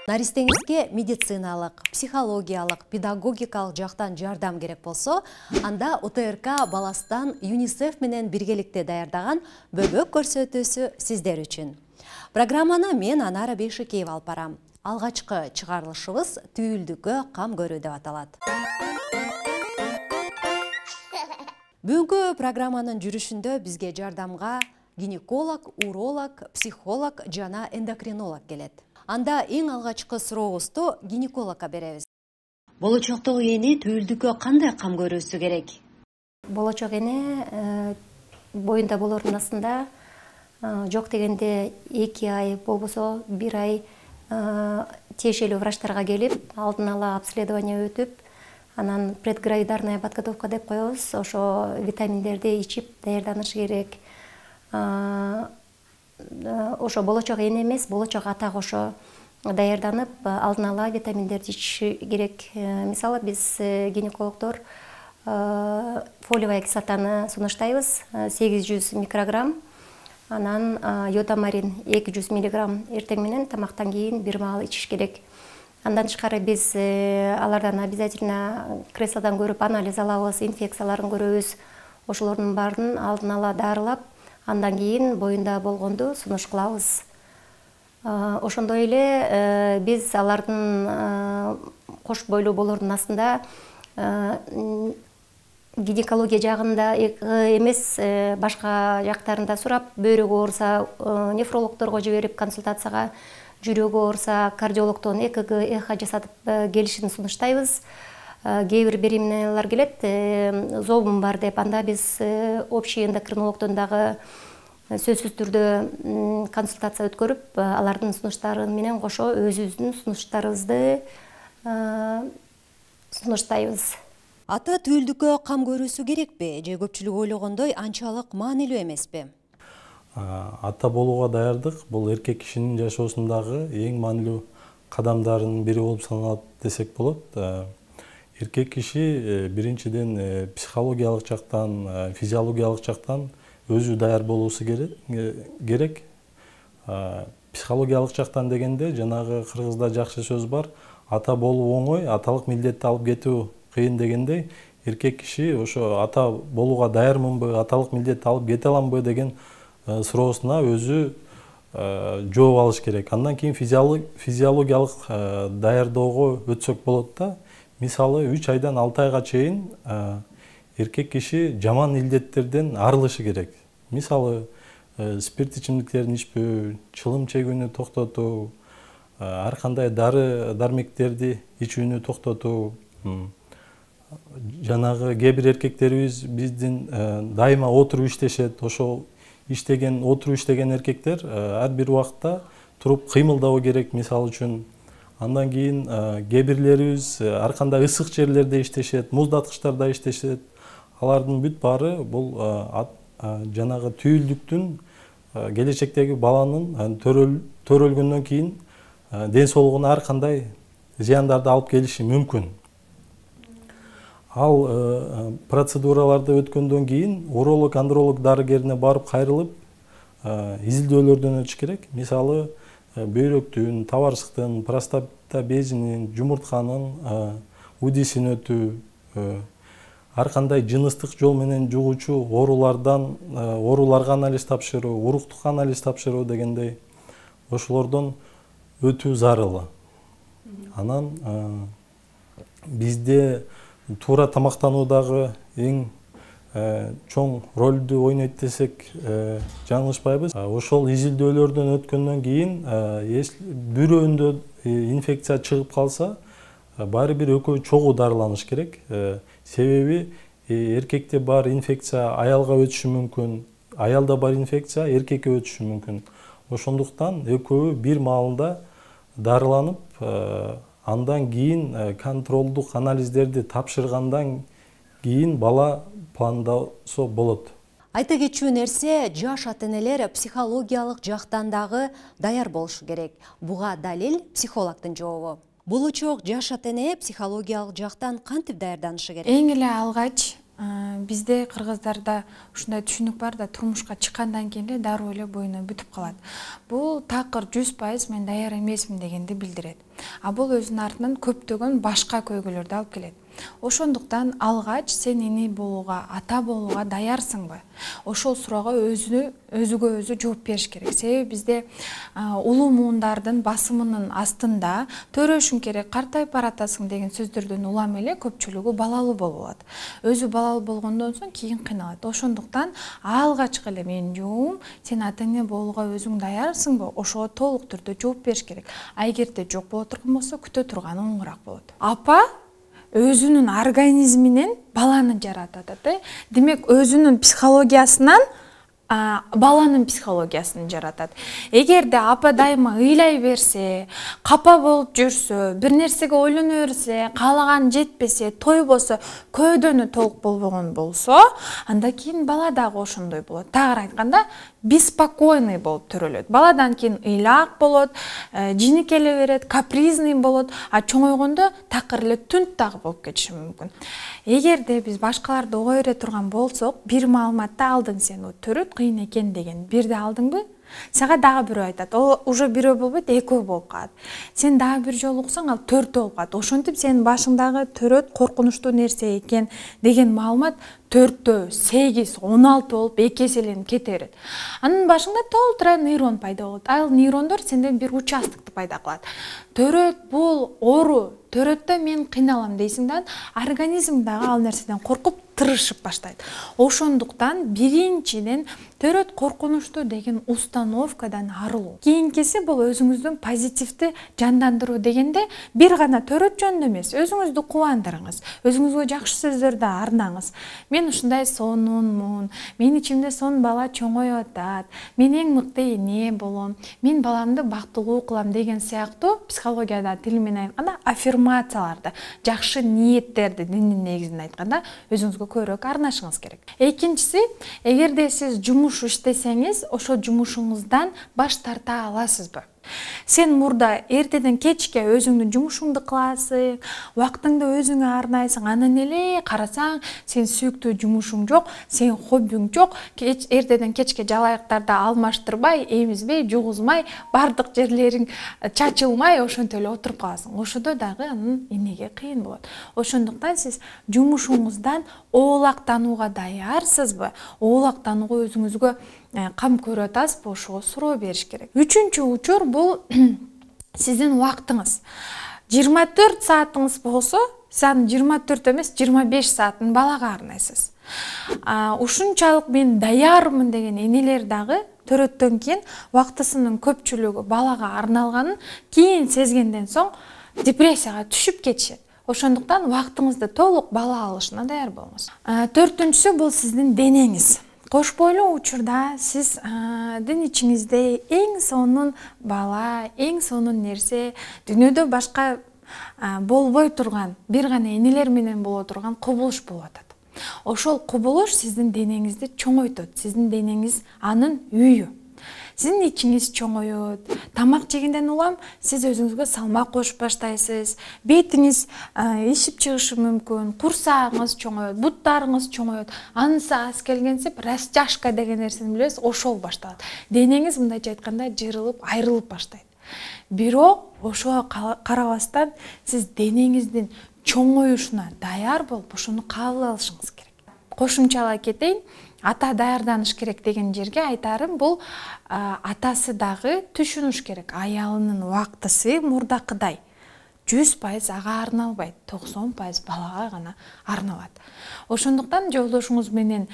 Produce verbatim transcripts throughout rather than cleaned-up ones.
Наристеңизге медициналык, психологиялык, педагогикалык жактан жардам керек болсо, анда О Т Р К Баластан ЮНИСЕФ менен биргеликте даярдаган бөбөк көрсөтүүсү сиздер үчүн. Программаны мен Анара Бейшикеева алып барам. Алгачкы чыгарылышыбыз түйүлдүккө кам көрүү деп аталат. Бүгүнкү программанын жүрүшүндө бизге жардамга гинеколог, уролог, психолог жана эндокринолог келет. Анда эң алгачкы сурообузду гинекологко беребиз. Болочоктогу эне түйүлдүккө кандай кам көрүүсү керек? Болочок эне боюнда болордун астында жок дегенде эки ай, болбосо бир ай тиешелүү врачтарга келип, алдын ала обследование өтүп, анан предгравидарная подготовка деп коебуз. Ошо витаминдерди ичип даярданышы керек. Ошо болочок эне эмес, болочок ата кошо даярданып, алдын ала витаминдерди ичиши керек. Мисалы, биз гинекологдор фолиевая кислотаны сунуштайбыз, сегиз жүз микрограмм, анан йодамарин эки жүз миллиграмм эртең менен тамактан кийин бир маал ичиш керек. Андан тышкары биз алардан обязательно креслодан көрүп анализ алабыз, инфекцияларын көрөбүз. Ошолордун баарын алдын ала дарылап, андан кийин боюнда болгонду сунуш кылабыз. Ошондой эле биз алардын кош бойлуу болордун астында гинекология жагында эмес, башка жактарында сурап, бөйрөгү ооруса нефрологдорго жиберип консультацияга, жүрөгү ооруса кардиологдон Э К Г, эхо жасатып келишин сунуштайбыз. Кээ бир беременналар келет, зобум бар деп, анда биз общий эндокринологдон дагы сөзсүз түрдө консультация өткөрүп, алардын сунуштары менен кошо өзүбүздүн сунуштарыбызды сунуштайбыз. Ата түйүлдүккө кам көрүүсү керекпи же көпчүлүк ойлогондой анчалык маанилүү эмеспи? Ата болууга даярдык бул эркек кишинин жашоосундагы эң маанилүү кадамдарынын бири болуп саналат десек болот. Эркек киши биринчиден психологиялык жактан, физиологиялык жактан өзү даяр болуусу керек. Психологиялык жактан дегенде жанагы кыргызда жакшы сөз бар: ата болуу оңой, аталык милдетти алып кетүү кыйын дегендей, эркек киши ошо ата болууга даярмынбы, аталык милдетти алып кете аламбы деген суроосуна өзү жооп алыш керек. Андан кийин физиологиялык даярдоого өтсөк болот да. Мисалы, үч айдан алты айга чейин эркек киши жаман илдеттерден арылышы керек. Мисалы, спирт ичимдиктерин ичпөө, чылым чегүүнү токтотуу, ар кандай дары дармектерди ичүүнү токтотуу. Жанагы кээ бир эркектерибиз биздин дайыма отуруп иштешет. Ошол иштеген, отуруп иштеген эркектер ар бир убакта туруп кыймылдабы керек, мисалы үчүн. Андан кийин кээ бирлерибиз ар кандай ысык жерлерде иштешет, муздаткычтарда иштешет. Алардын бүт баары бул жанагы түйүлдүктүн келечектеги баланын төрөлгөндөн кийин ден соолугуна ар кандай зыяндарды алып келиши мүмкүн. Ал процедураларды өткөндөн кийин уролог, андролог дарыгерине барып кайрылып изилдөөлөрдөн өтүш керек. Мисалы, бөйрөктүн, табарсыктын, простата безинин, жумуртканын удисин өтүү, ар кандай жыныстык жол менен жугуучу оорулардан ооруларга анализ тапшыруу, уруктук анализ тапшыруу дегендей ошолордон өтүү зарыл. Анан бизде туура тамактануудагы эң чоң ролду ойнойт десек жаңылышпайбыз. Ошол изилдөөлөрдөн өткөндөн кийин бирөөндө инфекция чыгып калса, баары бир экөө чогуу дарыланыш керек. Себеби эркекте бар инфекция аялга өтүшү мүмкүн, аялда бар инфекция эркекке өтүшү мүмкүн. Ошондуктан экөө бир маалда дарыланып, андан кийин контролдук анализдерди тапшыргандан кийин бала пландаса болот. Айта кетчү нерсе, жаш ата-энелер психологиялык жактан дагы даяр болушу керек. Буга далил психологдун жообу. Болочок жаш ата-эне психологиялык жактан кантип даярданышы керек? Эң эле алгач бизде кыргыздарда ушундай түшүнүк бар да, турмушка чыккандан кийин эле дароо эле боюна бүтүп калат. Бул такыр жүз пайыз мен даяр эмесмин дегенди билдирет. а бул өзүнүн артынан көптөгөн башка көйгөйлөрдү алып келет. Ошондуктан алгач сен эне болууга, ата болууга даярсыңбы? Ошол суроого өзү өзүгө өзү жооп бериш керек. Себеби бизде улуу муундардын басымынын астында төрөшүң керек, картайып баратасың деген сөздөрдөн улам эле көпчүлүгү балалуу болуп алат. Өзү балалуу болгондон соң кийин кыйналат. Ошондуктан алгачкы эле менин жообум сен ата эне болууга өзүң даярсыңбы? Ошого толук түрдө жооп бериш керек. А эгерде жок боло турган болсо күтө турганы оңураак болот. Апа өзүнүн организминен баланы жаратат. Демек өзүнүн психологиясынан баланын психологиясын жаратат. Эгерде апа дайыма ыйлай берсе, капа болуп жүрсө, бир нерсеге ойлоно берсе, каалаган жетпесе, тойбосо, көөдөнү толук болбогон болсо, анда кийин бала дагы ошондой болот. Тагыраак айтканда, беспокойный болуп төрөлөт. Баладан кийин ыйлаак болот, жинекеле берет, капризный болот, а чоңойгондо такыр эле түнт дагы болуп кетиши мүмкүн. Эгерде биз башкаларды ого бере турган болсок, бир маалыматты алдың сен, төрөт кыйын экен деген бирди алдыңбы? Сага дагы бирөө айтат. Ол уже бирөө болбойт, экөө болуп калат. Сен дагы бир жолу уксаң, ал төртөө болуп калат. Ошентип сенин башыңдагы төрөт коркунучтуу нерсе экен деген маалымат төртөө, сегиз, он алты болуп эки эселенип кете берет. Анын башыңда толтура нейрон пайда болот. Ал нейрондор сенден бир участокты пайда кылат. Төрөт бул оору, төрөттө мен кыйналам дейсиң да, организм дагы ал нерседен коркуп тырышып баштайт. Ошондуктан биринчиден төрөт коркунучтуу деген установкадан арылуу. Кийинкиси бул өзүңүздүн позитивди жандандыруу дегенде бир гана төрөт жөнүндө эмес, өзүңүздү кубандырыңыз, өзүңүзгө жакшы сөздөрдү арнаңыз. Мен ушундай сонунмун, менин ичимде сонун бала чоңоюп атат, мен эң мыкты эне болом, мен баламды бактылуу кылам деген сыяктуу психологияда тили менен айтканда аффирмацияларды, жакшы ниеттерди диндин негизинде айтканда өзүңүзгө көбүрөөк арнашыңыз керек. Экинчиси, эгерде сиз жумуш иштесеңиз, ошол жумушуңуздан баш тарта аласызбы? Сен мурда эртеден кечке өзүңдүн жумушуңду кыласың, убактыңды өзүңө арнайсың, анан эле карасаң, сен сүйүктүү жумушуң жок, сен хоббиң жок, эртеден кечке жалаяктарды алмаштырбай, эмизбей, жугузмай, бардык жерлериң чачылмай, ошентип эле отуруп каласың. Ошодо дагы анын энеге кыйын болот. Ошондуктан сиз жумушуңуздан оолактанууга даярсызбы? Оолактанууга өзүңүзгө кам көрүп атасызбы? Ошого суроо бериш керек. Үчүнчү учур бул сиздин убактыңыз. жыйырма төрт саатыңыз болсо, сен жыйырма төрт эмес, жыйырма беш саатын балага арнайсыз. Ушунчалык мен даярмын деген энелер дагы төрөттөн кийин убактысынын көпчүлүгү балага арналганын кийин сезгенден соң депрессияга түшүп кетишет. Ошондуктан убактыңызды толук бала алышына даяр болуңуз. Төртүнчүсү бул сиздин денеңиз. Кош бойлуу учурда сиздин ичиңизде эң сонун бала, эң сонун нерсе, дүйнөдө башка болбой турган, бир гана энелер менен боло турган кубулуш болуп атат. Ошол кубулуш сиздин денеңизди чоңойтот, сиздин денеңиз анын үйү. Сиздин ичиңиз чоңойот, тамак жегенден улам сиз өзүңүзгө салмак кошуп баштайсыз, бетиңиз ишип чыгышы мүмкүн, курсагыңыз чоңойот, буттарыңыз чоңойот, анысы аз келгенсип растяжка деген нерсени билесиз, ошол башталат. Денеңиз мындайча айтканда жырылып, айрылып баштайт. Бирок ошого карабастан сиз денеңиздин чоңоюшуна даяр болуп, ошону кабыл алышыңыз керек. Кошумчалай кетейин, ата даярданыш керек деген жерге айтарым, бул атасы дагы түшүнүш керек. Аялынын убактысы мурдакыдай жүз пайыз ага арналбайт, токсон пайыз балага гана арналат. Ошондуктан жолдошуңуз менен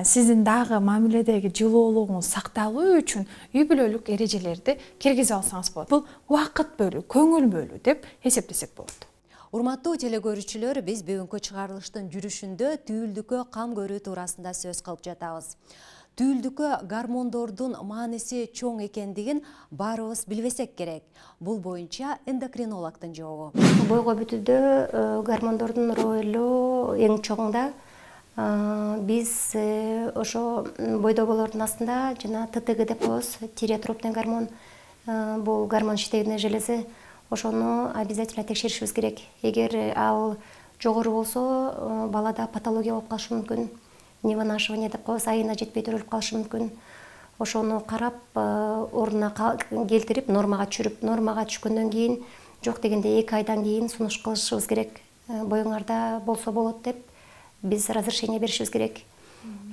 сиздин дагы мамиледеги жылуулугуңуз сакталуу үчүн үй бүлөлүк эрежелерди киргизе алсаңыз болот. Бул убакыт бөлүү, көңүл бөлүү деп эсептесек болот. Урматтуу телекөрүүчүлөр, биз бүгүнкү чыгарылыштын жүрүшүндө түйүлдүккө кам көрүү туурасында сөз кылып жатабыз. Түйүлдүккө гормондордун мааниси чоң экендигин баарыбыз билбесек керек. Бул боюнча эндокринологдун жообу. Бойго бүтүүдө гормондордун ролу эң чоң да. Биз ошо бойдогулардын астында жана Т Т Г деп коебуз, тиреотропный гормон, бул гормон иштегенде желеси. Ошону обязательно текшеришибиз керек. Эгер ал жогору болсо, балада патология болуп калышы мүмкүн. Невынашивание деп коебуз, айына жетпей төрөлүп калышы мүмкүн. Ошону карап, ордуна келтирип, нормага түшүрүп, нормага түшкөндөн кийин жок дегенде эки айдан кийин сунуш кылышыбыз керек, боюңарда болсо болот деп биз разрешение беришибиз керек.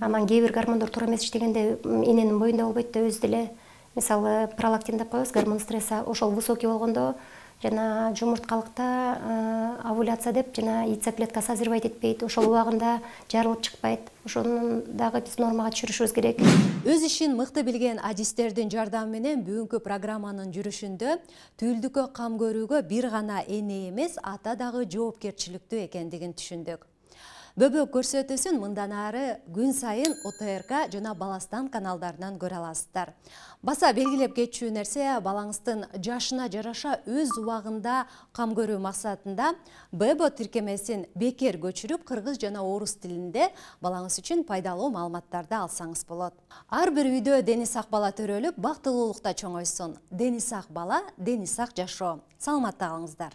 Анан кээ бир гормондор туура эмес иштегенде эненин боюнда болбойт да, өзү деле мисалы пролактин деп коебуз, гормон стресса, ошол высокий болгондо жана жумурткалыкта овуляция деп жана яйцеклетка созревать этпейт, ошол убагында жарылып чыкпайт. Ошону дагы биз нормага түшүрүшүбүз керек. Өз ишин мыкты билген адистердин жардамы менен бүгүнкү программанын жүрүшүндө түйүлдүккө кам көрүүгө бир гана эне эмес, ата дагы жоопкерчиликтүү экендигин түшүндүк. Бөбөк көрсөтүүсүн мындан ары күн сайын О Т Р К жана Баластан каналдарынан көрө аласыздар. Баса белгилеп кетчү нерсе, балаңыздын жашына жараша өз убагында кам көрүү максатында Б Б тиркемесин бекер көчүрүп, кыргыз жана орус тилинде балаңыз үчүн пайдалуу маалыматтарды алсаңыз болот. Ар бир үйдө дени сак бала төрөлүп, бактылуулукта чоңойсун. Дени сак бала, дени сак жашоо. Саламатта калыңыздар.